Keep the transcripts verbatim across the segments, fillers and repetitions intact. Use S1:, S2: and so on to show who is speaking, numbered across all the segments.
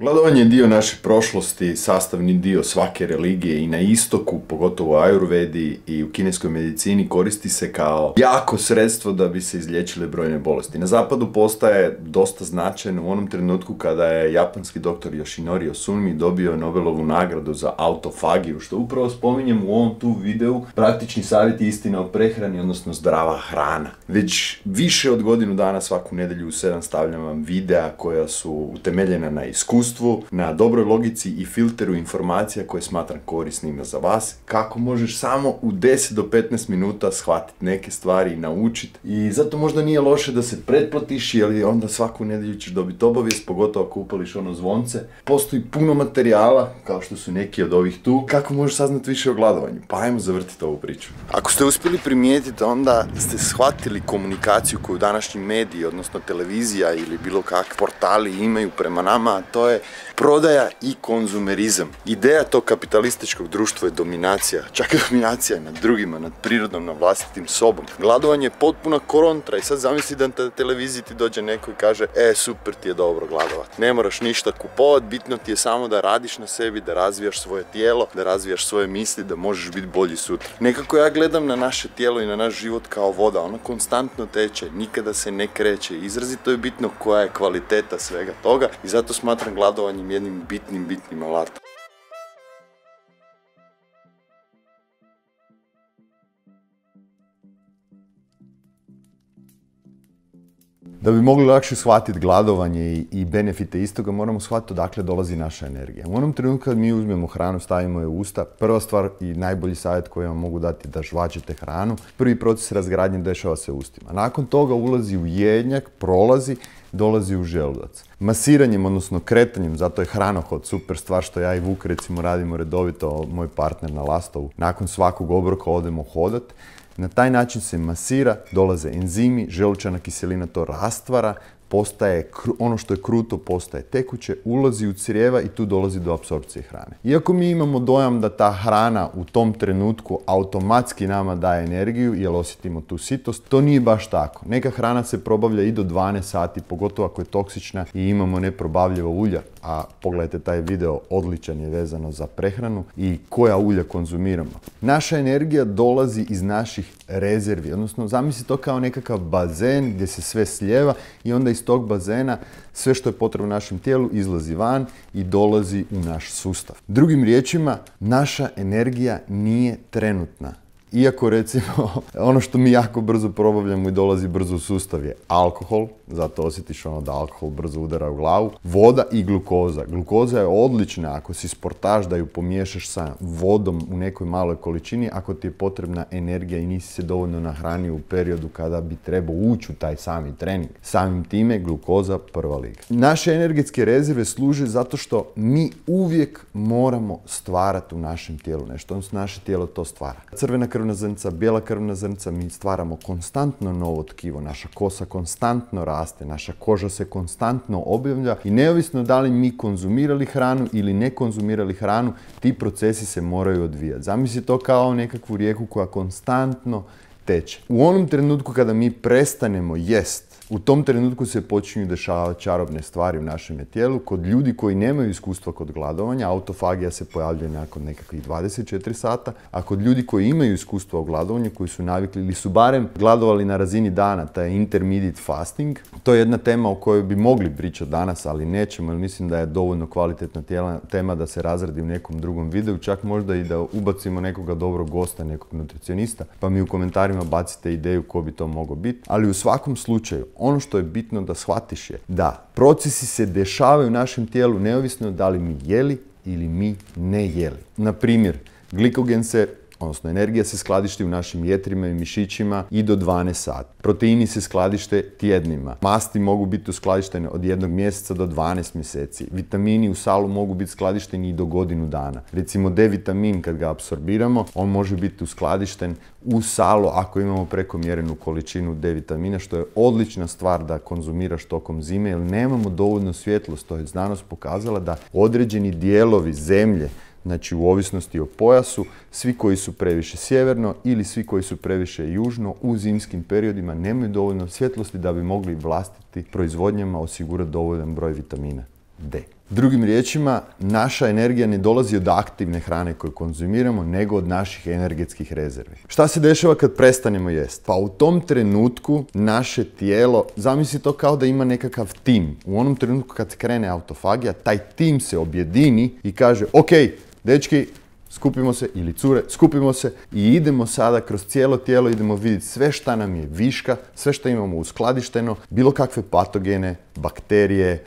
S1: Gladovanje je dio naše prošlosti, sastavni dio svake religije i na istoku, pogotovo u ajurvedi i u kineskoj medicini, koristi se kao jako sredstvo da bi se izliječile brojne bolesti. Na zapadu postaje dosta značajan u onom trenutku kada je japanski doktor Yoshinori Ohsumi dobio Nobelovu nagradu za autofagiju, što upravo spominjem u ovom tu videu, praktični savjet i istina o prehrani, odnosno zdrava hrana. Već više od godinu dana svaku nedjelju u sedam stavljam vam videa koja su utemeljena na iskustvu, na dobroj logici i filteru informacija koje smatram korisnima za vas, kako možeš samo u deset do petnaest minuta shvatiti neke stvari i naučiti. I zato možda nije loše da se pretplatiš, jer onda svaku nedjelju ćeš dobiti obavijest, pogotovo ako upališ ono zvonce. Postoji puno materijala, kao što su neki od ovih tu, kako možeš saznati više o gladovanju. Pa ajmo zavrtiti ovu priču. Ako ste uspjeli primijetiti, onda ste shvatili komunikaciju koju današnji mediji, odnosno televizija ili bilo kakvi portali imaju prema nama, a to je prodaja i konzumerizam. Ideja tog kapitalističkog društva je dominacija, čak i dominacija nad drugima, nad prirodom, nad vlastitim sobom. Gladovanje je potpuna kontra i sad zamisli da na televiziji ti dođe neko i kaže e, super ti je dobro gladovat. Ne moraš ništa kupovat, bitno ti je samo da radiš na sebi, da razvijaš svoje tijelo, da razvijaš svoje misli, da možeš biti bolji sutra. Nekako ja gledam na naše tijelo i na naš život kao voda, ona konstantno teče, nikada se ne kreće. Izrazito je bitno koja je kvaliteta svega toga i zato smatram gladovanjem jednim bitnim, bitnim alatom. Da bi mogli lakše shvatiti gladovanje i, i benefite istoga, moramo shvatiti odakle dolazi naša energija. U onom trenutku kad mi uzmemo hranu, stavimo je u usta, prva stvar i najbolji savjet koji vam mogu dati je da žvačete hranu. Prvi proces razgradnje dešava se u ustima. Nakon toga ulazi u jednjak, prolazi, dolazi u želudac. Masiranjem, odnosno kretanjem, zato je hranohod super stvar što ja i Vuk recimo radimo redovito, moj partner na Lastovu. Nakon svakog obroka odemo hodat. Na taj način se masira, dolaze enzimi, želučana kiselina to rastvara, postaje, ono što je kruto postaje tekuće, ulazi u crijeva i tu dolazi do apsorpcije hrane. Iako mi imamo dojam da ta hrana u tom trenutku automatski nama daje energiju jer osjetimo tu sitost, to nije baš tako. Neka hrana se probavlja i do dvanaest sati, pogotovo ako je toksična i imamo neprobavljivo ulja, a pogledajte taj video, odličan je vezano za prehranu i koja ulja konzumiramo. Naša energija dolazi iz naših rezervi, odnosno zamisli to kao nekakav bazen gdje se sve slijeva i onda iz tog bazena sve što je potrebno našem tijelu izlazi van i dolazi u naš sustav. Drugim riječima, naša energija nije trenutna. Iako recimo ono što mi jako brzo probavljamo i dolazi brzo u sustav je alkohol, zato osjetiš ono da alkohol brzo udara u glavu, voda i glukoza. Glukoza je odlična ako si sportaš da ju pomiješaš sa vodom u nekoj maloj količini, ako ti je potrebna energija i nisi se dovoljno nahranio u periodu kada bi trebao ući u taj sami trening. Samim time glukoza prva liga. Naše energetske rezerve služe zato što mi uvijek moramo stvarati u našem tijelu nešto, odnosno naše tijelo to stvara. Crvena krvna zrnca, bijela krvna zrnca, mi stvaramo konstantno novo tkivo, naša kosa konstantno raste, naša koža se konstantno objavlja i neovisno da li mi konzumirali hranu ili ne konzumirali hranu, ti procesi se moraju odvijati. Zamisli to kao nekakvu rijeku koja konstantno teče. U onom trenutku kada mi prestanemo jest, u tom trenutku se počinju dešavati čarobne stvari u našem tijelu. Kod ljudi koji nemaju iskustva kod gladovanja, autofagija se pojavljuje nakon nekakvih dvadeset četiri sata, a kod ljudi koji imaju iskustva u gladovanju, koji su navikli ili su barem gladovali na razini dana, taj intermediate fasting, to je jedna tema o kojoj bi mogli pričati danas, ali nećemo, jer mislim da je dovoljno kvalitetna tijela, tema da se razradi u nekom drugom videu, čak možda i da ubacimo nekoga dobrog gosta, nekog nutricionista, pa mi u komentarima bacite ideju ko bi to mogao biti, ali u svakom slučaju, ono što je bitno da shvatiš je da procesi se dešavaju u našem tijelu neovisno da li mi jeli ili mi ne jeli. Na primjer, glikogen se, odnosno energija se skladišti u našim jetrima i mišićima i do dvanaest sati. Proteini se skladište tjednima. Masti mogu biti uskladištene od jednog mjeseca do dvanaest mjeseci. Vitamini u salu mogu biti skladišteni i do godinu dana. Recimo D vitamin kad ga apsorbiramo, on može biti uskladišten u salu ako imamo prekomjerenu količinu D vitamina, što je odlična stvar da konzumiraš tokom zime, jer nemamo dovoljno svjetlost. To je znanost pokazala da određeni dijelovi zemlje, znači u ovisnosti o pojasu, svi koji su previše sjeverno ili svi koji su previše južno u zimskim periodima nemaju dovoljno svjetlosti da bi mogli vlastiti proizvodnjama osigurati dovoljan broj vitamina D. Drugim riječima, naša energija ne dolazi od aktivne hrane koju konzumiramo, nego od naših energetskih rezervi. Šta se dešava kad prestanemo jesti? Pa u tom trenutku naše tijelo, zamisli to kao da ima nekakav tim. U onom trenutku kad krene autofagija, taj tim se objedini i kaže, ok, dečki, skupimo se, ili cure, skupimo se i idemo sada kroz cijelo tijelo, idemo vidjeti sve šta nam je viška, sve što imamo uskladišteno, bilo kakve patogene, bakterije,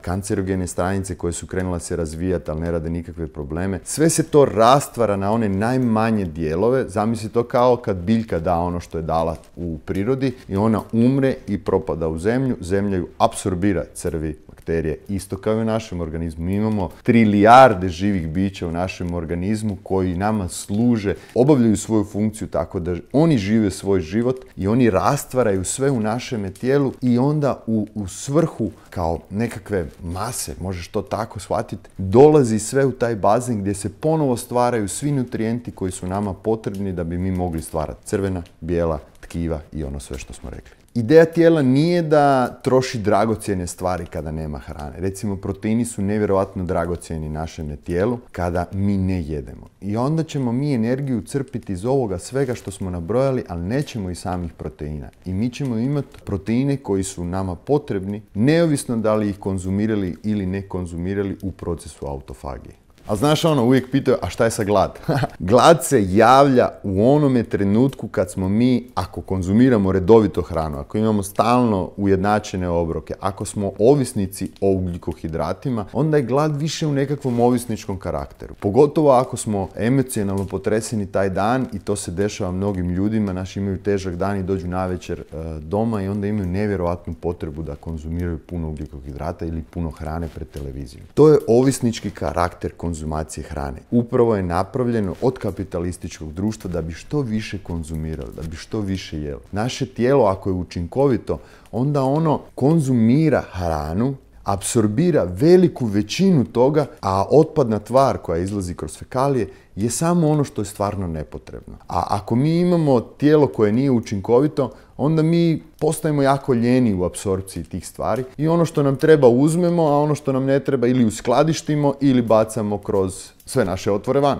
S1: kancerogene stranice koje su krenule se razvijati, ali ne rade nikakve probleme. Sve se to rastvara na one najmanje dijelove. Zamisli to kao kad biljka da ono što je dala u prirodi i ona umre i propada u zemlju. Zemlja ju apsorbira, crvi, bakterije, isto kao i u našem organizmu. Mi imamo trilijarde živih bića u našem organizmu koji nama služe, obavljaju svoju funkciju tako da oni žive svoj život i oni rastvaraju sve u našem tijelu i onda u, u svrhu kao nekakve mase, možeš to tako shvatiti, dolazi sve u taj bazen gdje se ponovo stvaraju svi nutrijenti koji su nama potrebni da bi mi mogli stvarati crvena, bijela, tkiva i ono sve što smo rekli. Ideja tijela nije da troši dragocjene stvari kada nema hrane. Recimo, proteini su nevjerojatno dragocjeni našem tijelu kada mi ne jedemo. I onda ćemo mi energiju crpiti iz ovoga svega što smo nabrojali, ali nećemo i samih proteina. I mi ćemo imati proteine koji su nama potrebni, neovisno da li ih konzumirali ili ne konzumirali u procesu autofagije. A znaš ono, uvijek pitaju, a šta je sa glad? Glad se javlja u onome trenutku kad smo mi, ako konzumiramo redovito hranu, ako imamo stalno ujednačene obroke, ako smo ovisnici o ugljikohidratima, onda je glad više u nekakvom ovisničkom karakteru. Pogotovo ako smo emocionalno potreseni taj dan i to se dešava mnogim ljudima, naši imaju težak dan i dođu navečer e, doma i onda imaju nevjerojatnu potrebu da konzumiraju puno ugljikohidrata ili puno hrane pred televizijom. To je ovisnički karakter konzumiranja. Konzumacije hrane. Upravo je napravljeno od kapitalističkog društva da bi što više konzumirali, da bi što više jeli. Naše tijelo, ako je učinkovito, onda ono konzumira hranu, apsorbira veliku većinu toga, a otpadna tvar koja izlazi kroz fekalije je samo ono što je stvarno nepotrebno. A ako mi imamo tijelo koje nije učinkovito, onda mi postajemo jako ljeni u apsorpciji tih stvari i ono što nam treba uzmemo, a ono što nam ne treba ili uskladištimo ili bacamo kroz sve naše otvore van.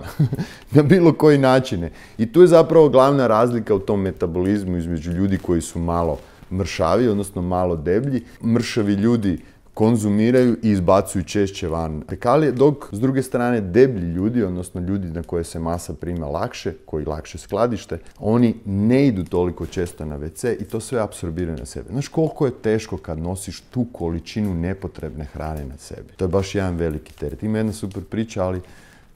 S1: Na bilo koji načine. I tu je zapravo glavna razlika u tom metabolizmu između ljudi koji su malo mršavi, odnosno malo deblji. Mršavi ljudi konzumiraju i izbacuju češće van fekalije, dok s druge strane deblji ljudi, odnosno ljudi na koje se masa prima lakše, koji lakše skladište, oni ne idu toliko često na ve ce i to sve apsorbiraju na sebe. Znaš koliko je teško kad nosiš tu količinu nepotrebne hrane na sebi? To je baš jedan veliki teret. Ima jedna super priča, ali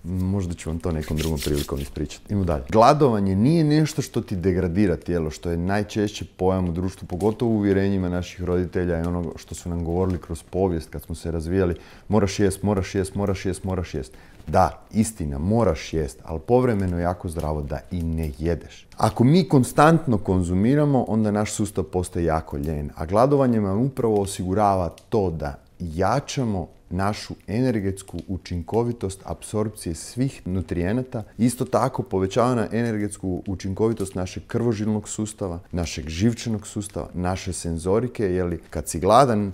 S1: možda ću vam to nekom drugom prilikom ispričati. Idemo dalje. Gladovanje nije nešto što ti degradira tijelo, što je najčešće pojam u društvu, pogotovo u uvjerenjima naših roditelja i ono što su nam govorili kroz povijest kad smo se razvijali. Moraš jest, moraš jest, moraš jest, moraš jest. Da, istina, moraš jest, ali povremeno je jako zdravo da i ne jedeš. Ako mi konstantno konzumiramo, onda naš sustav postaje jako ljen, a gladovanje nam upravo osigurava to da jačamo našu energetsku učinkovitost apsorpcije svih nutrijenata. Isto tako povećava na energetsku učinkovitost našeg krvožilnog sustava, našeg živčanog sustava, naše senzorike, jer kad si gladan,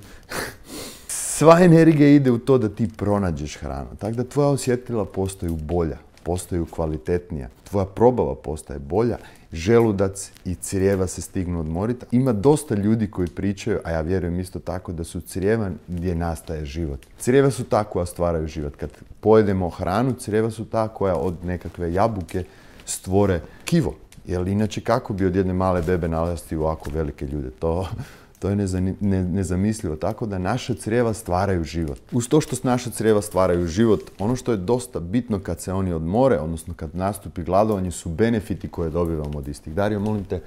S1: sva energija ide u to da ti pronađeš hranu. Tako da tvoja osjetila postaju bolja, postaju kvalitetnija, tvoja probava postaje bolja, želudac i crijeva se stignu odmoriti. Ima dosta ljudi koji pričaju, a ja vjerujem isto tako, da su crijeva gdje nastaje život. Crijeva su ta koja stvaraju život. Kad pojedemo hranu, crijeva su ta koja od nekakve jabuke stvore kivo. Jer inače kako bi od jedne male bebe narasti ovako velike ljude? To... To je nezamislivo, tako da naša crijeva stvaraju život. Uz to što naša crijeva stvaraju život, ono što je dosta bitno kad se oni odmore, odnosno kad nastupi gladovanje, su benefiti koje dobivamo od istih. Dario, molim te,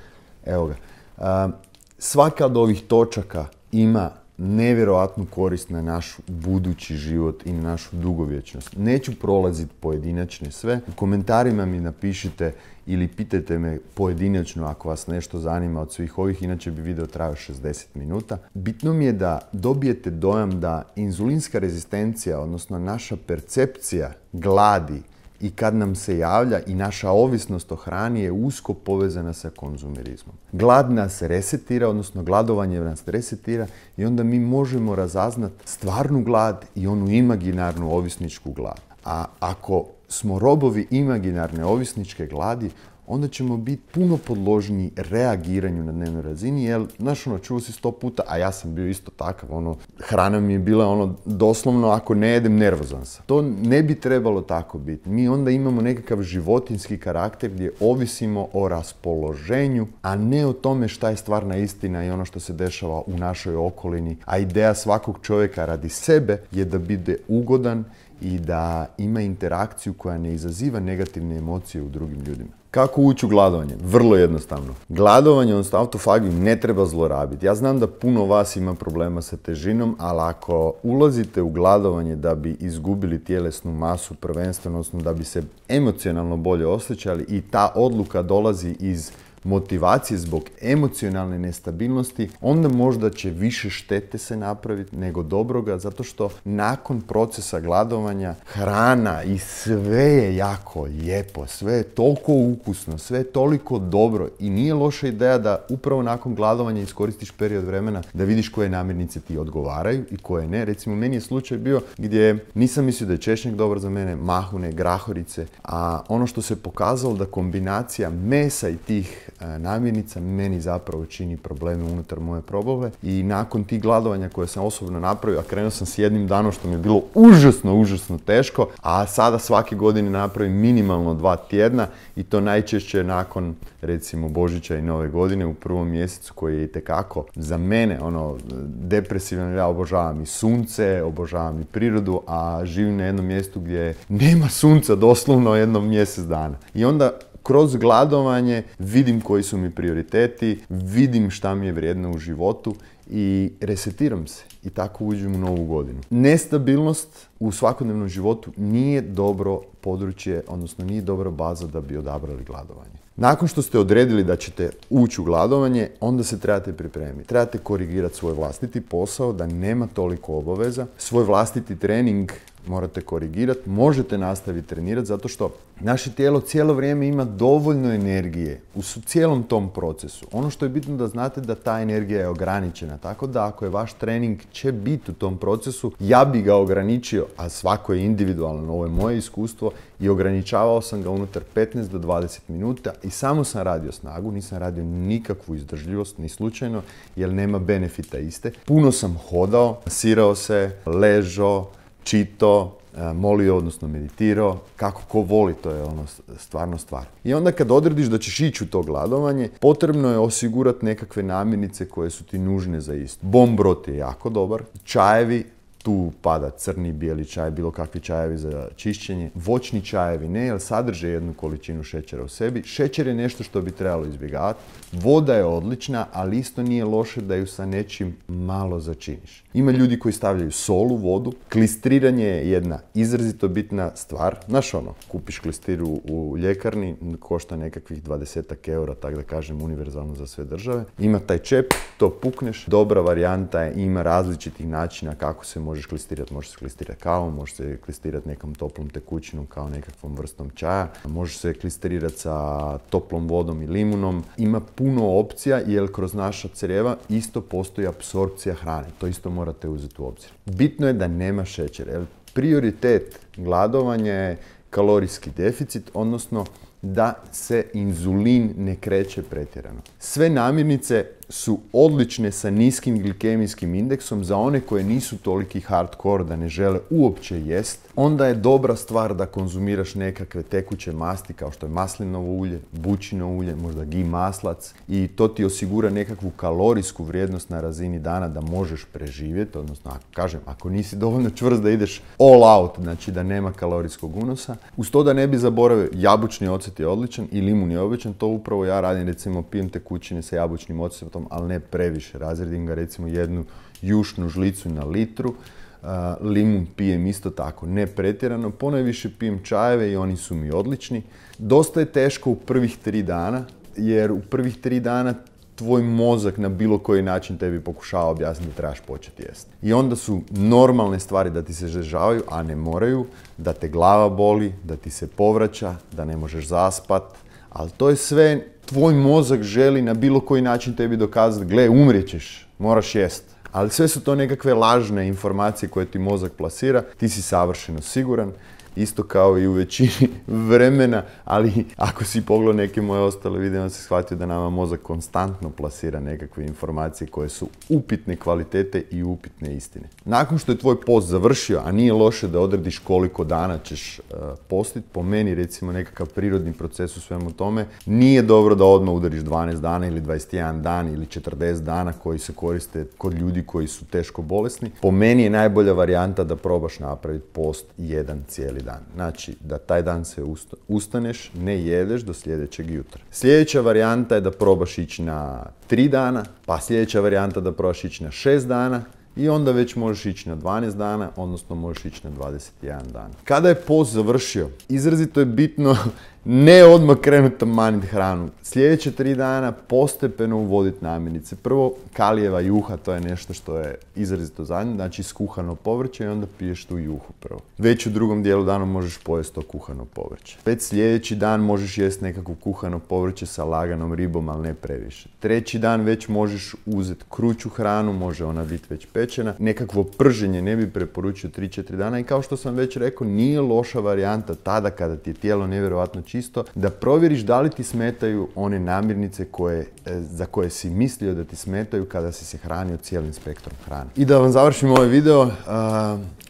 S1: evo ga. Svaka od ovih točaka ima nevjerojatnu korist na naš budući život i na našu dugovječnost. Neću prolaziti pojedinačne sve. U komentarima mi napišite ili pitajte me pojedinačno ako vas nešto zanima od svih ovih, inače bi video trajao šezdeset minuta. Bitno mi je da dobijete dojam da inzulinska rezistencija, odnosno naša percepcija gladi i kad nam se javlja i naša ovisnost o hrani je usko povezana sa konzumerizmom. Glad nas resetira, odnosno gladovanje nas resetira i onda mi možemo razaznat stvarnu glad i onu imaginarnu ovisničku glad. A ako smo robovi imaginarne ovisničke gladi, onda ćemo biti puno podložniji reagiranju na dnevnoj razini, jer, znaš, ono, čuo si sto puta, a ja sam bio isto takav, ono, hrana mi je bila, ono, doslovno, ako ne jedem, nervozan sam. To ne bi trebalo tako biti. Mi onda imamo nekakav životinjski karakter gdje ovisimo o raspoloženju, a ne o tome šta je stvarna istina i ono što se dešava u našoj okolini. A ideja svakog čovjeka radi sebe je da bude ugodan i da ima interakciju koja ne izaziva negativne emocije u drugim ljudima. Kako ući u gladovanje? Vrlo jednostavno. Gladovanje, odnosno autofagiju, ne treba zlorabiti. Ja znam da puno vas ima problema sa težinom, ali ako ulazite u gladovanje da bi izgubili tjelesnu masu prvenstveno, odnosno da bi se emocionalno bolje osjećali i ta odluka dolazi iz motivacije zbog emocionalne nestabilnosti, onda možda će više štete se napraviti nego dobroga, zato što nakon procesa gladovanja hrana i sve je jako lijepo, sve je toliko ukusno, sve je toliko dobro i nije loša ideja da upravo nakon gladovanja iskoristiš period vremena da vidiš koje namirnice ti odgovaraju i koje ne. Recimo, meni je slučaj bio gdje nisam mislio da je češnjak dobar za mene, mahune, grahorice, a ono što se pokazalo da kombinacija mesa i tih namirnica meni zapravo čini probleme unutar moje probave i nakon tih gladovanja koje sam osobno napravio, a krenuo sam s jednim danom što mi je bilo užasno, užasno teško, a sada svake godine napravim minimalno dva tjedna i to najčešće nakon recimo Božića i Nove godine u prvom mjesecu koji je itekako za mene ono depresivan. Ja obožavam i sunce, obožavam i prirodu, a živim na jednom mjestu gdje nema sunca doslovno jednom mjesec dana. I onda kroz gladovanje vidim koji su mi prioriteti, vidim šta mi je vrijedno u životu i resetiram se i tako uđem u novu godinu. Nestabilnost u svakodnevnom životu nije dobro područje, odnosno nije dobra baza da bi odabrali gladovanje. Nakon što ste odredili da ćete ući u gladovanje, onda se trebate pripremiti. Trebate korigirati svoj vlastiti posao, da nema toliko obaveza. Svoj vlastiti trening morate korigirati, možete nastaviti trenirati zato što naše tijelo cijelo vrijeme ima dovoljno energije u cijelom tom procesu. Ono što je bitno da znate da ta energija je ograničena, tako da ako je vaš trening će biti u tom procesu, ja bi ga ograničio, a svako je individualno, ovo je moje iskustvo, i ograničavao sam ga unutar petnaest do dvadeset minuta i samo sam radio snagu, nisam radio nikakvu izdržljivost, ni slučajno, jer nema benefita iste. Puno sam hodao, sirao se, ležao, čito, molio, odnosno meditirao, kako ko voli, to je ono stvarno stvar. I onda kad odrediš da ćeš ići u to gladovanje, potrebno je osigurati nekakve namirnice koje su ti nužne za isto. Bombrot je jako dobar, čajevi, tu pada crni, bijeli čaj, bilo kakvi čajevi za čišćenje. Voćni čajevi ne, jer sadrže jednu količinu šećera u sebi. Šećer je nešto što bi trebalo izbjegavati. Voda je odlična, ali isto nije loše da ju sa nečim malo začiniš. Ima ljudi koji stavljaju sol u vodu. Klistriranje je jedna izrazito bitna stvar. Znaš ono, kupiš klistiru u ljekarni, košta nekakvih dvadesetak eura, tako da kažem univerzalno za sve države. Ima taj čep, to pukneš. Dobra varijanta je, ima različitih načina kako se možeš klistirati. Može se klistirati kavom, može se klistirati nekom toplom tekućinom kao nekakvom vrstom čaja. Može se klistirati sa toplom vodom i limunom. Ima puno opcija jer kroz naša crijeva isto postoji apsorpcija hrane. To isto morate uzeti u obzir. Bitno je da nema šećera. Jer prioritet gladovanja je kalorijski deficit, odnosno da se inzulin ne kreće pretjerano. Sve namirnice su odlične sa niskim glikemijskim indeksom za one koje nisu toliki hardcore da ne žele uopće jest. Onda je dobra stvar da konzumiraš nekakve tekuće masti kao što je maslinovo ulje, bućino ulje, možda ghee maslac i to ti osigura nekakvu kalorijsku vrijednost na razini dana da možeš preživjeti, odnosno ako kažem, ako nisi dovoljno čvrst da ideš all out, znači da nema kalorijskog unosa. Uz to da ne bi zaboravio, jabučni ocet je odličan i limun je običan, to upravo ja radim, recimo pijem tekućine sa jabučnim ocetom, ali ne previše. Razredim ga recimo jednu jušnu žlicu na litru. Uh, limun pijem isto tako, ne pretjerano. Ponajviše pijem čajeve i oni su mi odlični. Dosta je teško u prvih tri dana, jer u prvih tri dana tvoj mozak na bilo koji način tebi pokušava objasniti da trebaš početi jesti. I onda su normalne stvari da ti se žežavaju, a ne moraju, da te glava boli, da ti se povraća, da ne možeš zaspat, ali to je sve tvoj mozak želi na bilo koji način tebi dokazati, gle, umrijećeš, moraš jest. Ali sve su to nekakve lažne informacije koje ti mozak plasira, ti si savršeno siguran, isto kao i u većini vremena, ali ako si pogledao neke moje ostale videe, onda si shvatio da nama mozak konstantno plasira nekakve informacije koje su upitne kvalitete i upitne istine. Nakon što je tvoj post završio, a nije loše da odrediš koliko dana ćeš uh, postiti, po meni recimo nekakav prirodni proces u svemu tome, nije dobro da odmah udariš dvanaest dana ili dvadeset jedan dan ili četrdeset dana koji se koriste kod ljudi koji su teško bolesni. Po meni je najbolja varijanta da probaš napraviti post jedan cijeli dan. Znači, da taj dan se ustaneš, ne jedeš do sljedećeg jutra. Sljedeća varijanta je da probaš ići na tri dana, pa sljedeća varijanta da probaš ići na šest dana i onda već možeš ići na dvanaest dana, odnosno možeš ići na dvadeset jedan dan. Kada je post završio, izrazito je bitno ne odmah krenuti tamaniti hranu. Sljedeće tri dana postepeno uvoditi namirnice. Prvo, kalijeva juha, to je nešto što je izrazito zadnje, znači skuhano povrće i onda piješ tu juhu prvo. Već u drugom dijelu dana možeš pojesti to kuhano povrće. Već sljedeći dan možeš jesti nekakvo kuhano povrće sa laganom ribom, ali ne previše. Treći dan već možeš uzeti kruću hranu, može ona biti već pečena. Nekakvo prženje ne bi preporučio tri četiri dana i kao što sam već rekao, nije loša varijanta tada kada ti je tijelo nevjerojatno čisto, da provjeriš da li ti smetaju one namirnice koje, za koje si mislio da ti smetaju kada si se hranio cijelim spektrom hrane. I da vam završim ovaj video, uh,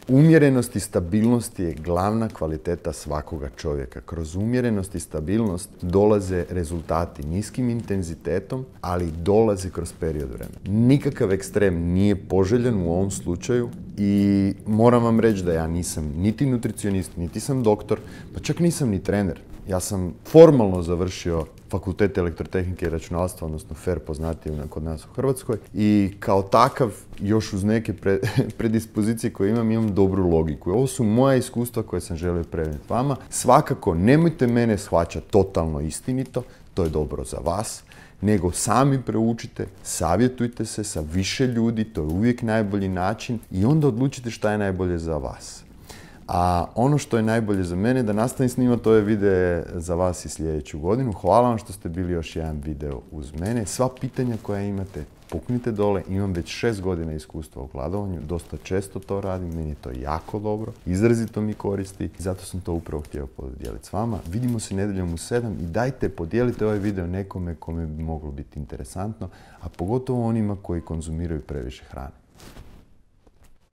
S1: umjerenost i stabilnost je glavna kvaliteta svakoga čovjeka. Kroz umjerenost i stabilnost dolaze rezultati niskim intenzitetom, ali dolaze kroz period vremena. Nikakav ekstrem nije poželjen u ovom slučaju i moram vam reći da ja nisam niti nutricionist, niti sam doktor, pa čak nisam ni trener. Ja sam formalno završio fakultet elektrotehnike i računalstva, odnosno F E R poznatiji kod nas u Hrvatskoj. I kao takav, još uz neke pre, predispozicije koje imam, imam dobru logiku. I ovo su moja iskustva koje sam želio prenijeti vama. Svakako, nemojte mene shvaćati totalno istinito, to je dobro za vas, nego sami proučite, savjetujte se sa više ljudi, to je uvijek najbolji način i onda odlučite šta je najbolje za vas. A ono što je najbolje za mene, da nastavim snimati ove videe za vas i sljedeću godinu. Hvala vam što ste bili još jedan video uz mene. Sva pitanja koja imate, puknite dole. Imam već šest godina iskustva u gladovanju. Dosta često to radim, meni je to jako dobro. Izrazito mi koristi i zato sam to upravo htio podijeliti s vama. Vidimo se nedjeljom u sedam i dajte, podijelite ovaj video nekome kome bi moglo biti interesantno, a pogotovo onima koji konzumiraju previše hrane.